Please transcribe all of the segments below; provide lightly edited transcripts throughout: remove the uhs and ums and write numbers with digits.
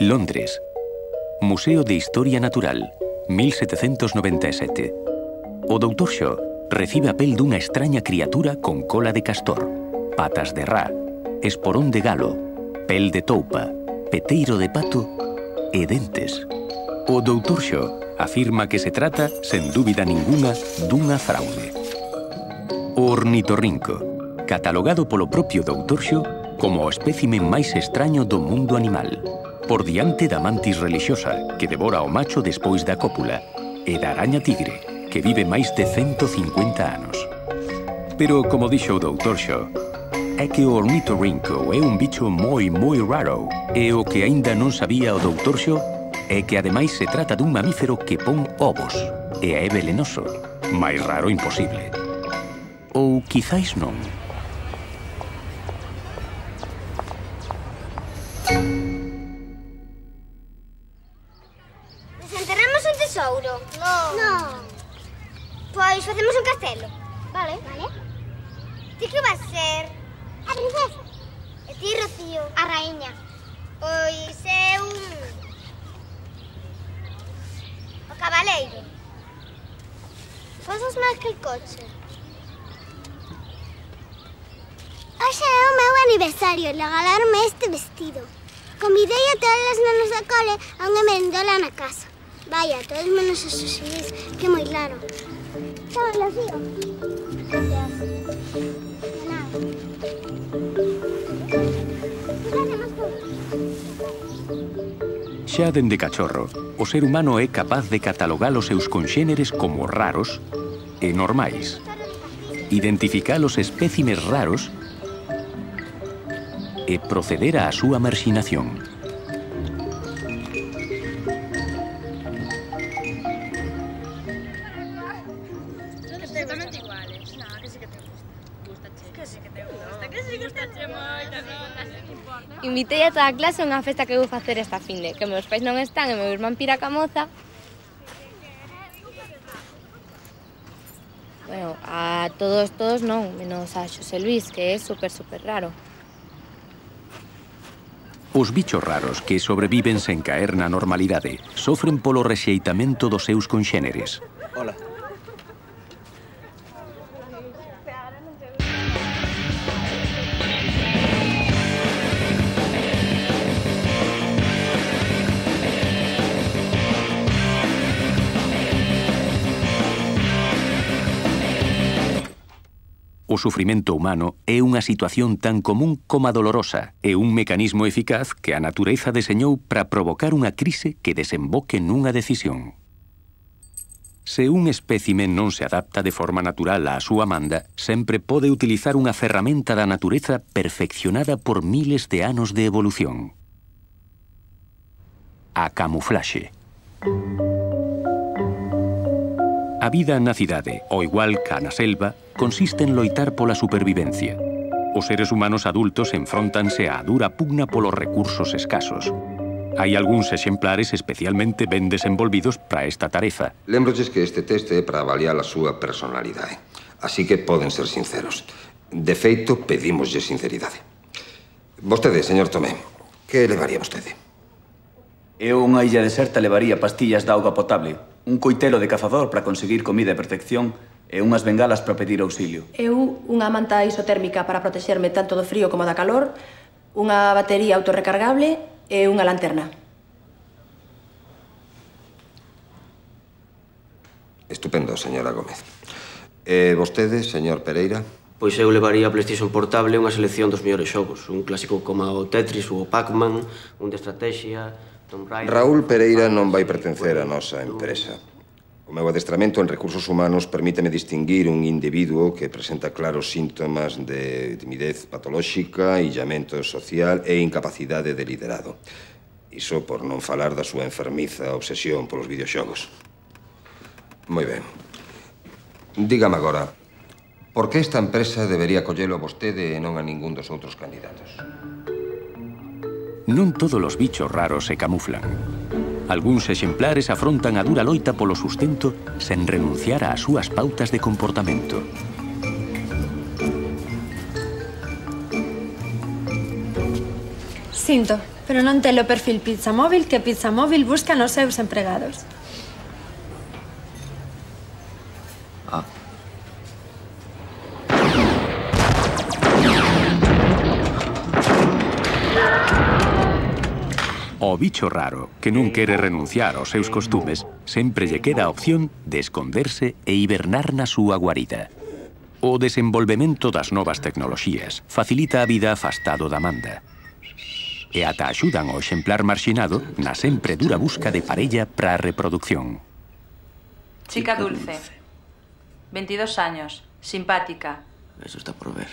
Londres. Museo de Historia Natural, 1797. O Dr. Shaw recibe a pel dunha extraña criatura con cola de castor, patas de ra, esporón de galo, pel de toupa, peteiro de pato e dentes. O Dr. Shaw afirma que se trata, sen dúbida ninguna, dunha fraude. O ornitorrinco, catalogado polo propio Dr. Shaw como o espécimen máis extraño do mundo animal, por diante da mantis relixiosa, que devora o macho despois da cópula, e da araña tigre, que vive máis de 150 anos. Pero, como dixo o Dr. Shaw, é que o ornitorrinco é un bicho moi raro, e o que aínda non sabía o Dr. Shaw é que ademais se trata dun mamífero que pon ovos, e é velenoso. Máis raro imposible. Ou quizáis non. Desenterramos un tesouro? Non. Pois facemos un castelo. Vale. Ti que vas ser? A princesa. E ti, Rocío? A raíña. Pois eu... o cabaleiro. Pasas máis que el coche. Hoxe é o meu aniversario e regalarme este vestido. Convidei a todas as nenas da cole a unha merendola na casa. Vaya, todos menos os Xosís, que moi claro. Toma, Rocío. Gracias. De nada. Xa dende cachorro, o ser humano é capaz de catalogar os seus conxéneres como raros e normais, identificar os espécimes raros e proceder á súa marxinación. Invitei a toda a clase a unha festa que vou facer esta finde, que meus pais non están e meu irmán pira ca moza. Bueno, a todos non, menos a Xosé Luis, que é super raro. Os bichos raros que sobreviven sen caer na normalidade sofren polo rexeitamento dos seus conxéneres. Hola. O sufrimento humano é unha situación tan común como a dolorosa e un mecanismo eficaz que a natureza deseñou para provocar unha crise que desemboque nunha decisión. Se un espécimen non se adapta de forma natural á súa manda, sempre pode utilizar unha ferramenta da natureza perfeccionada por miles de anos de evolución. A camuflaxe. A vida na cidade, ao igual que na selva, consiste en loitar pola supervivencia. Os seres humanos adultos enfróntanse á dura pugna polos recursos escasos. Hai algúns exemplares especialmente ben desenvolvidos para esta tarefa. Lembrolles que este test é para avaliar a súa personalidade. Así que poden ser sinceros. De feito, pedímoslle sinceridade. Vostede, señor Tomé, que levaría vostede? Eu unha illa deserta levaría pastillas de auga potable, un coitelo de cazador para conseguir comida e protección e unhas bengalas para pedir auxilio. Eu unha manta isotérmica para protexerme tanto do frío como da calor, unha batería autorrecargable e unha lanterna. Estupendo, señora Gómez. E vostede, señor Pereira? Pois eu levaría a PlayStation Portable unha selección dos mellores xogos. Un clásico como o Tetris ou o Pac-Man, un de estrategia... Raúl Pereira non vai pertencer á nosa empresa. O meu adestramento en recursos humanos permíteme distinguir un individuo que presenta claros síntomas de timidez patolóxica, illamento social e incapacidade de liderado. Iso por non falar da súa enfermiza obsesión polos videoxogos. Moi ben. Dígame agora, por que esta empresa debería collelo a vostede e non a ningún dos outros candidatos? Non todos os bichos raros se camuflan. Algúns exemplares afrontan a dura loita polo sustento sen renunciar ás súas pautas de comportamento. Se sinto, pero non telo perfil Pizzamóvil que Pizzamóvil busca nos seus empregados. O bicho raro, que non quere renunciar aos seus costumes, sempre lle queda a opción de esconderse e hibernar na súa guarida. O desenvolvemento das novas tecnoloxías facilita a vida afastado da manda. E ata axudan ao exemplar marxinado na sempre dura busca de parella para a reproducción. Chica dulce. 22 años. Simpática. Eso está por ver.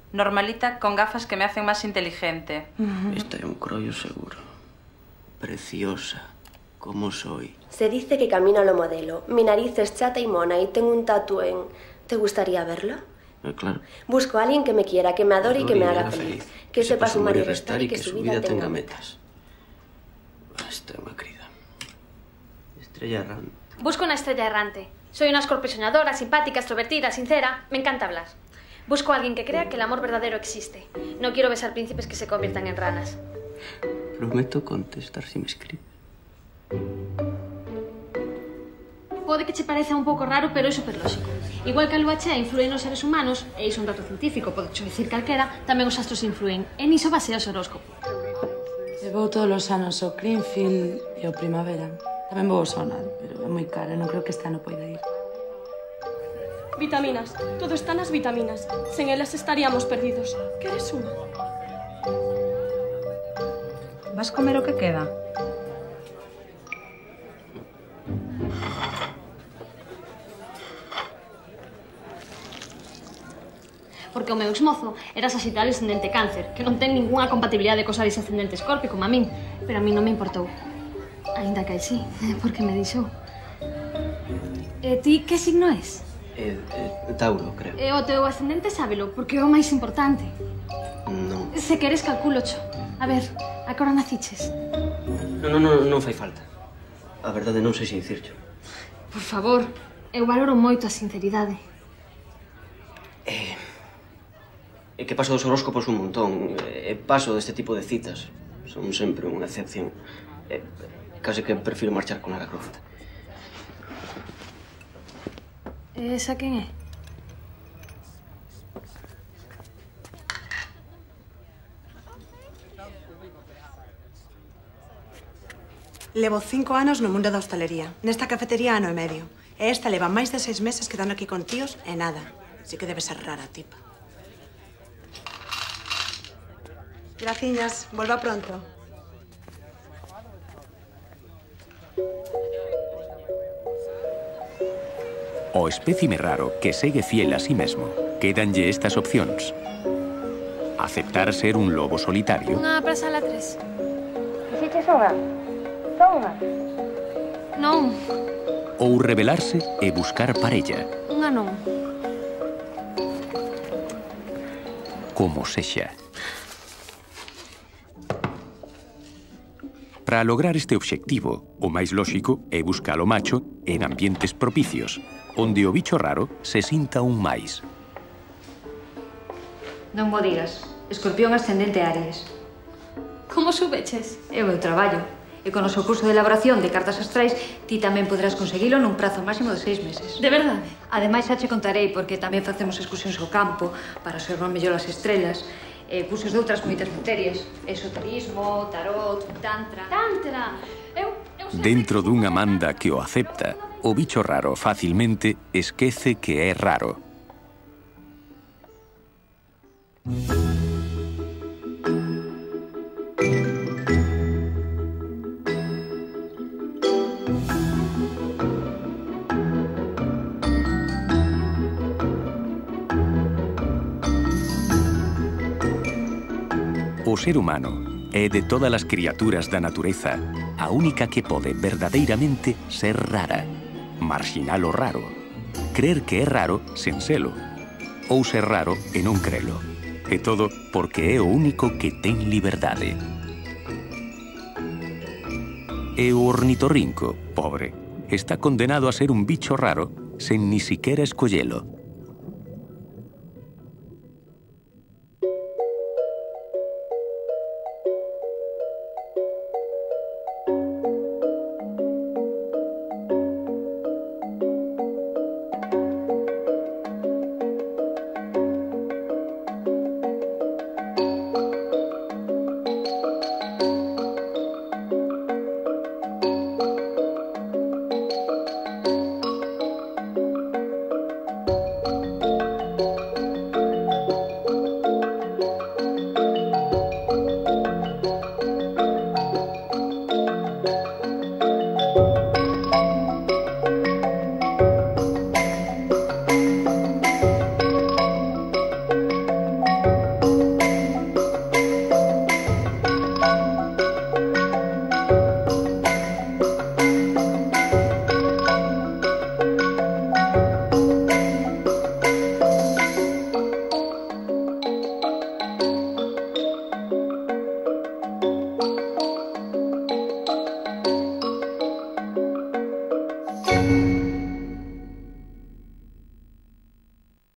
Normalita con gafas que me hacen más inteligente. Este é un crollo seguro. Preciosa. Como soy. Se dice que camino a lo modelo. Mi nariz es chata y mona y tengo un tatu en... ¿Te gustaría verlo? Claro. Busco a alguien que me quiera, que me adore y que me haga feliz. Que sepa sumar y restar y que su vida tenga metas. Esta é unha crida. Estrella errante. Busco una estrella errante. Soy una escorpio soñadora, simpática, extrovertida, sincera. Me encanta hablar. Busco a alguien que crea que el amor verdadero existe. No quiero besar príncipes que se conviertan en ranas. Prometo contestar si me escribe. Pode que che pareza un pouco raro, pero é superlóxico. Igual que a lúa chea influe nos seres humanos, e iso é un dato científico, pode dicir calquera, tamén os astros influen. E niso basea o horóscopo. Eu vou todos os anos ao Greenfield e ao Primavera. Tamén vou ao Sonar, pero é moi caro, non creo que este ano poida ir. Vitaminas. Todo está nas vitaminas. Sen elas estaríamos perdidos. Queres unha? Vas comer o que queda? Porque o meu exmozo era Sagitario ascendente Cáncer, que non ten ningunha compatibilidade cos Aries ascendente Escorpio, como a min. Pero a min non me importou. Ainda que sí, porque me dixou. E ti que signo és? Tauro, creo. E o teu ascendente sábelo, porque é o máis importante. Non. Se queres, calculocho. A ver, a que hora naciches? Non fai falta. A verdade non sei se dicircho. Por favor, eu valoro moito a sinceridade. É que paso dos horóscopos un montón. E paso deste tipo de citas. Son sempre unha excepción. Case que prefiro marchar con Lara Croft. Esa quen é? Levo 5 anos no mundo da hostalería. Nesta cafetería ano e medio. E esta leva máis de 6 meses quedando aquí con tíos e nada. Así que debe ser rara, tipa. Graciñas. Volva pronto. O espécime raro que segue fiel a sí mesmo, quédanlle estas opcións. Aceptar ser un lobo solitario. Unha para sala 3. Dixeches unha? Só unha? Non. Ou rebelarse e buscar parella. Unha non. Como sexa. Para lograr este obxectivo, o máis lóxico é buscar o macho en ambientes propicios, onde o bicho raro se sinta un máis. Non mo digas. Escorpión ascendente Aries. Como subeches? É o meu traballo. E con o seu curso de elaboración de cartas astrais, ti tamén poderás conseguilo nun prazo máximo de 6 meses. De verdade? Ademais, xa che contarei, porque tamén facemos excursións ao campo para observar mellor as estrelas, cursos de outras moitas materias. Esoterismo, tarot, tantra... Tantra! Dentro dunha manda que o acepta, o bicho raro facilmente esquece que é raro. O ser humano é de todas as criaturas da natureza a única que pode verdadeiramente ser rara, marxinal o raro, crer que é raro sen selo, ou ser raro e non crelo. E todo porque é o único que ten liberdade. E o ornitorrinco, pobre, está condenado a ser un bicho raro sen ni siquiera escollelo.